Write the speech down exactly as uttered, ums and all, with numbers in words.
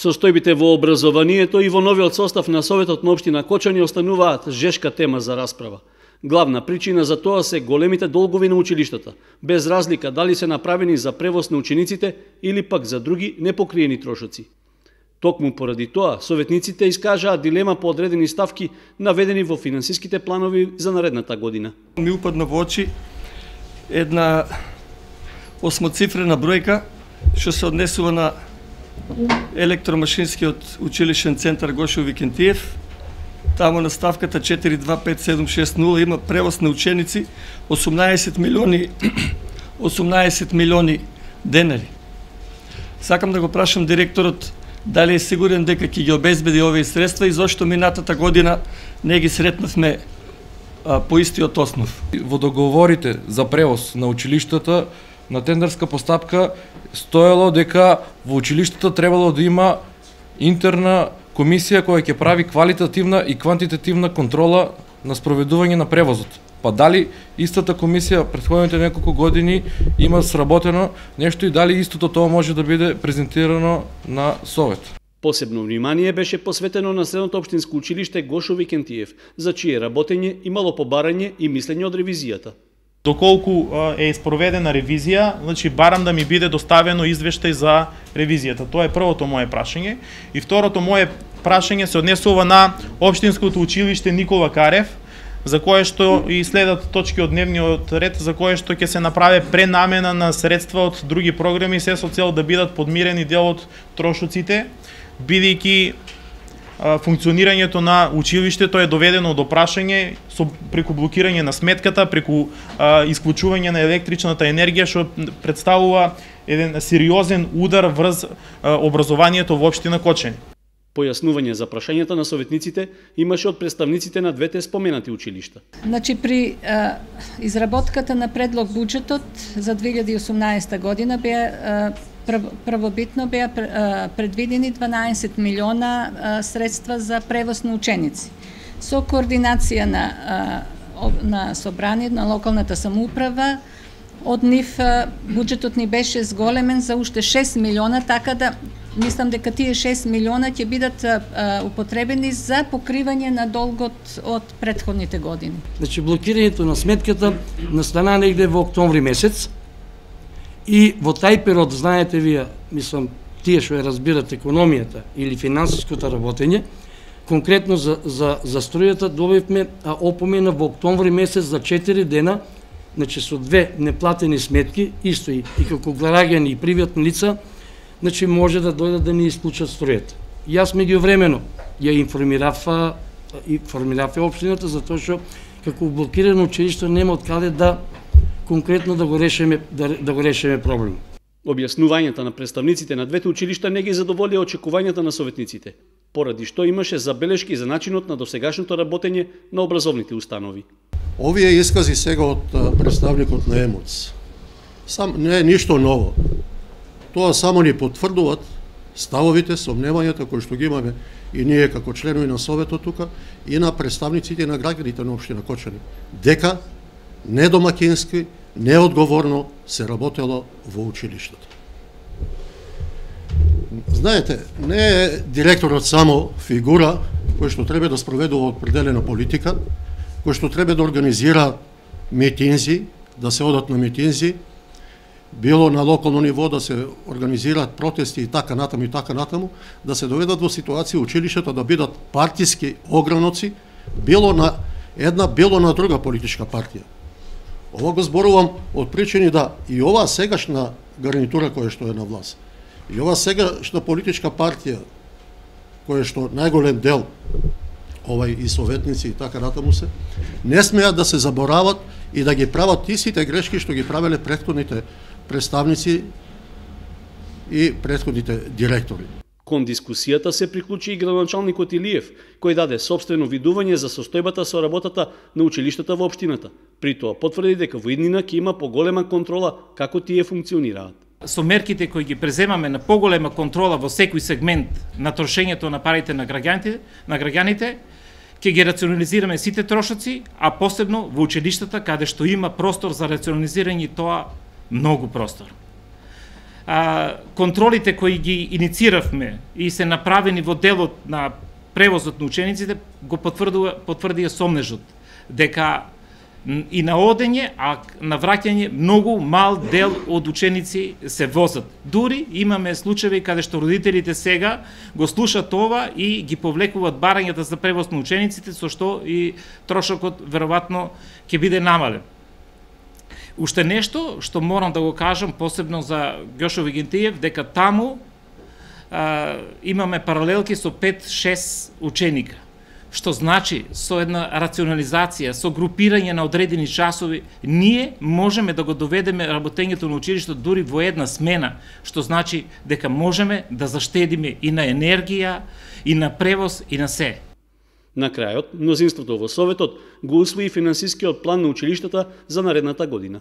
Состојбите во образованието и во новиот состав на Советот на општина Кочани остануваат жешка тема за расправа. Главна причина за тоа се големите долгови на училиштата, без разлика дали се направени за превоз на учениците или пак за други непокриени трошоци. Токму поради тоа, советниците искажаат дилема по одредени ставки наведени во финансиските планови за наредната година. Ми упадна во очи една осмоцифрена бројка што се однесува на електромашинскиот училишен центар Гошо Викентиев. Таму на ставката четири два пет седум шест нула има превоз на ученици осумнаесет милиони осумнаесет милиони денари. Сакам да го прашам директорот дали е сигурен дека ќе ги обезбеди овие средства и зошто минатата година не ги сретнавме а, по истиот основ. Во договорите за превоз на училиштата на тендерска постапка стоело дека во училиштата требало да има интерна комисија која ќе прави квалитативна и квантитативна контрола на спроведување на превозот. Па дали истата комисија претходните неколку години има сработено нешто и дали истото тоа може да биде презентирано на Совет? Посебно внимание беше посветено на средното општинско училиште Гошо Викентиев, за чие работење имало побарање и мислење од ревизијата. Доколку е спроведена ревизија, значи барам да ми биде доставено извештај за ревизијата. Тоа е првото мое прашање. И второто мое прашање се однесува на општинското училиште Никола Карев, за кое што и следат точки од дневниот ред, за кое што ќе се направи пренамена на средства од други програми, се со цел да бидат подмирени дел од трошоците, бидејќи функционирањето на училиштето е доведено до прашање со преку блокирање на сметката, преку а, исклучување на електричната енергија, што представува еден сериозен удар врз а, образованието во општина Кочани. Појаснување за прашањата на советниците имаше од представниците на двете споменати училишта. Значи при а, изработката на предлог буџетот за две илјади и осумнаесета година беа а, првобитно беа предвидени дванаесет милиона средства за превоз на ученици. Со координација на на собрание на локалната самоуправа, од нив буџетот ни беше зголемен за уште шест милиона, така да мислам дека тие шест милиона ќе бидат употребени за покривање на долгот од претходните години. Значи блокирањето на сметката настана негде во октомври месец. И во тај период, знаете вие, мислам, тие што ја разбират економијата или финансиското работење, конкретно за, за, за струјата добивме опомена во октомври месец за четири дена, значи со две неплатени сметки, исто и, и како граѓани и приватни лица, значи може да дојдат да ни исклучат струјата. Јас меѓувремено ја информирав, информирав општината за тоа што како блокирано училиште нема од каде да конкретно да го решиме да, да го решиме проблем. Објаснувањата на представниците на двете училишта не ги задоволија очекувањата на советниците, поради што имаше забелешки за начинот на досегашното работење на образовните установи. Овие искази сега од представникот на ЕМОЦ сам не е ништо ново. Тоа само ни потврдуваат ставовите, сомневањата кои што ги имаме и ние како членови на Советот тука и на представниците на граѓаните на општина Кочани, дека недомакински, неодговорно се работело во училиштето. Знаете, не е директорот само фигура кој што треба да спроведува определена политика, кој што треба да организира митинзи, да се одат на митинзи, било на локално ниво да се организираат протести и така натаму и така натаму, да се доведат во ситуација училиштата да бидат партиски ограноци, било на една, било на друга политичка партија. Ова го зборувам од причини да и оваа сегашна гарнитура која што е на власт, и оваа сегашна политичка партија, која што најголем дел овај и советници и така натаму се, не смеат да се заборават и да ги прават истите грешки што ги правеле претходните представници и претходните директори. Кон дискусијата се приклучи и градоначалникот Илиев, кој даде собствено видување за состојбата со работата на училиштата во општината. При тоа потврди дека во иднина ќе има поголема контрола како тие функционираат. Со мерките кои ги преземаме на поголема контрола во секој сегмент на трошењето на парите на граѓаните, на граѓаните, ќе ги рационализираме сите трошоци, а посебно во училиштата каде што има простор за рационализирање, тоа многу простор. а, контролите кои ги иницииравме и се направени во делот на превозот на учениците го потврдува потврдија сомнежот дека и на одење, а на враќање многу мал дел од ученици се возат. Дури имаме случаи каде што родителите сега го слушат ова и ги повлекуваат барањата за превоз на учениците, со што и трошокот веројатно ќе биде намален. Уште нешто што морам да го кажам посебно за Ѓошо Вигентиев, дека таму а, имаме паралелки со пет-шест ученика, што значи со една рационализација, со групирање на одредени часови, ние можеме да го доведеме работењето на училиштето дури во една смена, што значи дека можеме да заштедиме и на енергија, и на превоз, и на се. На крајот, мнозинството во Советот го усвои финансискиот план на училиштата за наредната година.